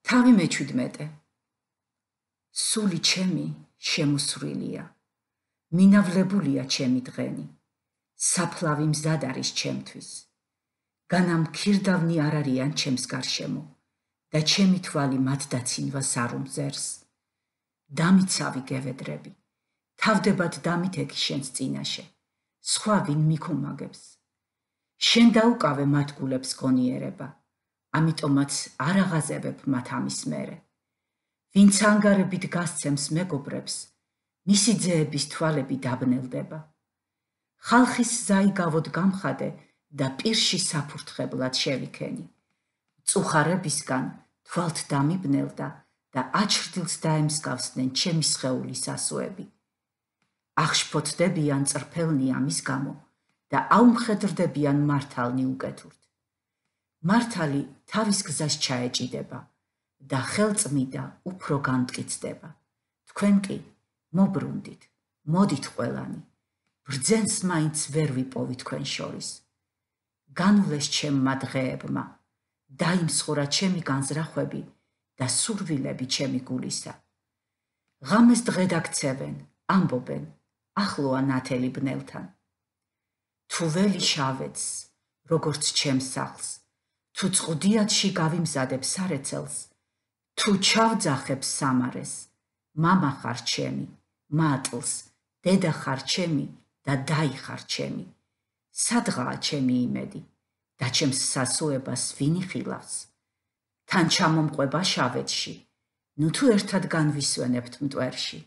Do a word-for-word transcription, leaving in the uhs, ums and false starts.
თავი მეჩვიდმეტე. სული ჩემი შემოსვლილია, მინავლებულია ჩემი დღენი, საფლავი მზად არის ჩემთვის. განამ ქირდავნი არ არიან ჩემს გარშემო და ჩემი თვალი მათ დაცინვას არ უმზერს. დამიცავი გევედრები, თავდებად დამითექი შენს წინაშე, სხვა ვინ მიქუმაგებს. შენ დაუკავე მათ გულებს გონიერება, ამიტომაც არ აღაზევებ მათ ამის მერე. ვინც ანგარებით გასცემს მეგობრებს, მისი ძეების თვალები დაბნელდება. ხალხის ზაიგავოდ გამხადე და პირში საფურთხებლად შევიქენი. წუხარებისგან თვალთ დამიბნელდა და აჩრდილს დაემსგავსდნენ ჩემი სხეულის ასოები. აღშფოთდებიან წრფელნი ამის გამო და აუმხედრდებიან მართალნი უკეთურთ. მართალი თავის გზას ჩაეჭიდება და ხელწმიდა უფრო განმტკიცდება. თქვენ კი მობრუნდით, მოდით ყველანი, ბრძენს მაინც ვერ ვიპოვი თქვენ შორის. განვლეს ჩემმა დღეებმა, დაიმსხურა ჩემი განზრახვები და სურვილები ჩემი გულისა. ღამეს დღე დაქცევენ, ამბობენ, ახლოა ნათელი ბნელთან. თუ ველი შავედს, როგორც ჩემს სახლს, თუ წყუდიათში გავიმზადებ სარეცელს, თუ ჩავძახებ სამარეს, მამა ხარ ჩემი, მატლს, დედა ხარ ჩემი და დაი ხარ ჩემი. სადღაა ჩემი იმედი და ჩემს სასუებას ვინ იხილავს? თან ჩამომყვება შავედში, ნუ თუ ერთად განვისვენებთ მტვერში.